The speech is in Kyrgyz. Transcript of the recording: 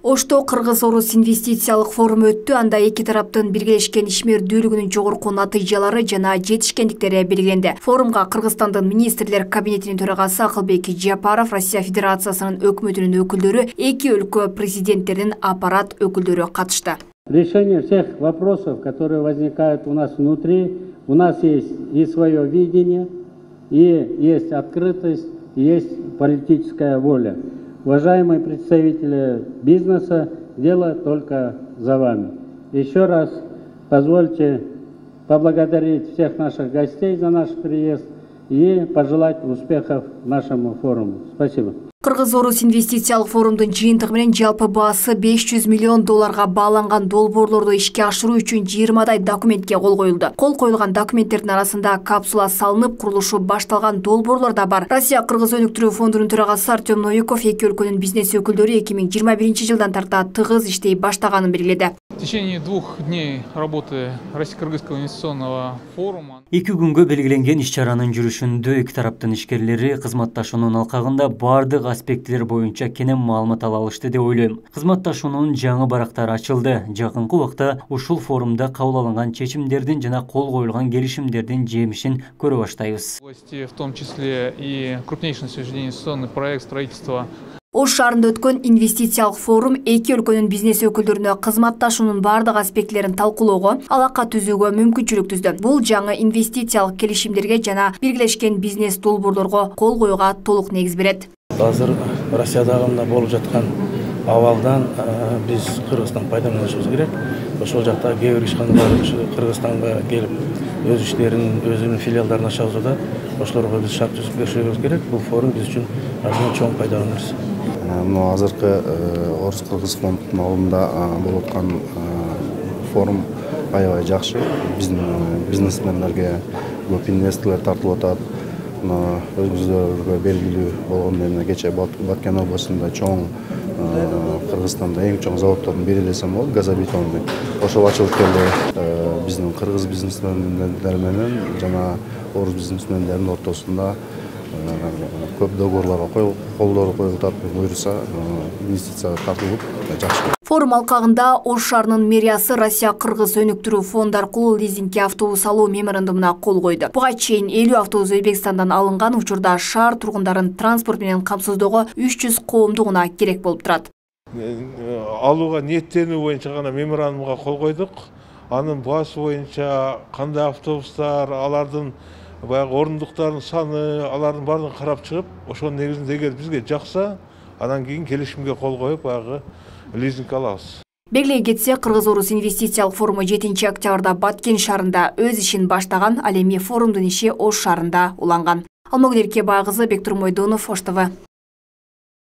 Ошто Кыргыз-Орус инвестициялык форуму өттү. Анда эки тараптын биргелешкен ишмердүүлүгүнүн жогорку натыйжалары жана жетишкендиктери белгиленди. Форумга Кыргызстандын министрлер кабинетинин төрагасы Акылбек Жапаров, Россия Федерациясынын өкмөтүнүн өкүлдөрү, эки өлкө президенттеринин аппарат өкүлдөрү катышты. Решение всех вопросов, которые возникают у нас внутри, у нас есть и свое видение, и есть открытость, и есть политическая воля. Уважаемые представители бизнеса, дело только за вами. Еще раз позвольте поблагодарить всех наших гостей за наш приезд и пожелать успехов нашему форуму. Спасибо. Кыргыз-Орус инвестициялык форумдун жыйынтыгы менен жалпы баасы $500 миллион бааланган долбоорлорду ишке ашыруу үчүн 20 документке кол коюлду. Кол коюлган документтердин арасында капсула салынып, курулушу башталган долбоорлор да бар. Россия Кыргыз өнүктүрүү фондунун төрагасы Артем Новиков эки өлкөнүн бизнес өкүлдөрү 2021 жылдан тарта тыгыз иштей баштаганын белгиледи. В течение 2 дней работы Российско-Кыргызского инвестиционного форума 2 күнгө белгиленген иш-чаранын жүрүшүндө эки тараптын ишкерлери кызматташуунун алкагында бардык аспектилер боюнча кенен маалымат ала алышты деп ойлойм. Кызматташуунун жаңы барактары ачылды. Жакынкы убакта ушул форумда кабыл алынган чечимдердин жана кол коюлган келишимдердин жемишин көрө баштайбыз. В том числе и крупнейший на сегодняшний день инвестиционный проект строительства. Ош шаарында өткөн инвестициялык форум эки өлкөнүн бизнес өкүлдөрүнө кызматташуунун бардык аспектилерин талкуулоого, алака түзүүгө мүмкүнчүлүк түздү. Бул жаңы инвестициялык келишимдерге жана биргелешкен бизнес долбоорлорго кол коюуга толук негиз берет. Азыр Россиядагы мына болуп жаткан абалдан биз Кыргызстан пайдаланышыбыз керек. Ошол жакта кээ бир ишканалар Кыргызстанга келип өз иштерин, өзүнүн филиалдарын ача алса, ошолорго биз шарт түзүп беришибиз керек. Бул форум биз үчүн чоң пайдалуу нерсе. Мына азыркы Орус-Кыргыз фондунун алдында болуп аткан форум аябай жакшы. Биздин бизнесмендерге көп инвесторлор тартылып атат. Өзүңүзгө белгилүү болгондо кечээ Баткен областында чоң Кыргызстанда эң чоң заводдордун бири десем болот, газобетонный. Ошол ачылып келди. Биздин кыргыз бизнесмендер менен жана орус бизнесмендердин ортосунда көп договорлорго колдор коюлуп атат. Буюрса инвестиция тартылып жакшы. Форум алкагында Ош шаарынын мэриясы Россия Кыргыз өнүктүрүү фонду аркылуу лизингке автобус алуу меморандумуна кол койду. Буга чейин 50 автобус Өзбекстандан алынган. Учурда шаар тургундарын транспорт менен камсыздоого 300 коомду гана керек болуп турат. Алууга ниеттенүү боюнча гана меморандумга кол койдук. Анын баасы боюнча кандай автобустар, алардын баягы орундуктардын саны, алардын баарын карап чыгып, ошонун негизинде эгер бизге жакса, анан кийин келишимге кол коюп, баягы лизинг алабыз. Белгилей кетсе, Кыргыз-Орус инвестициялык форуму 7 октябрда Баткен шаарында өз ишин баштаган, ал эми форумдун иши Ош шаарында уланган. Алмагүл Эркебай кызы, Бектур Мойдонов, Ош ТВ.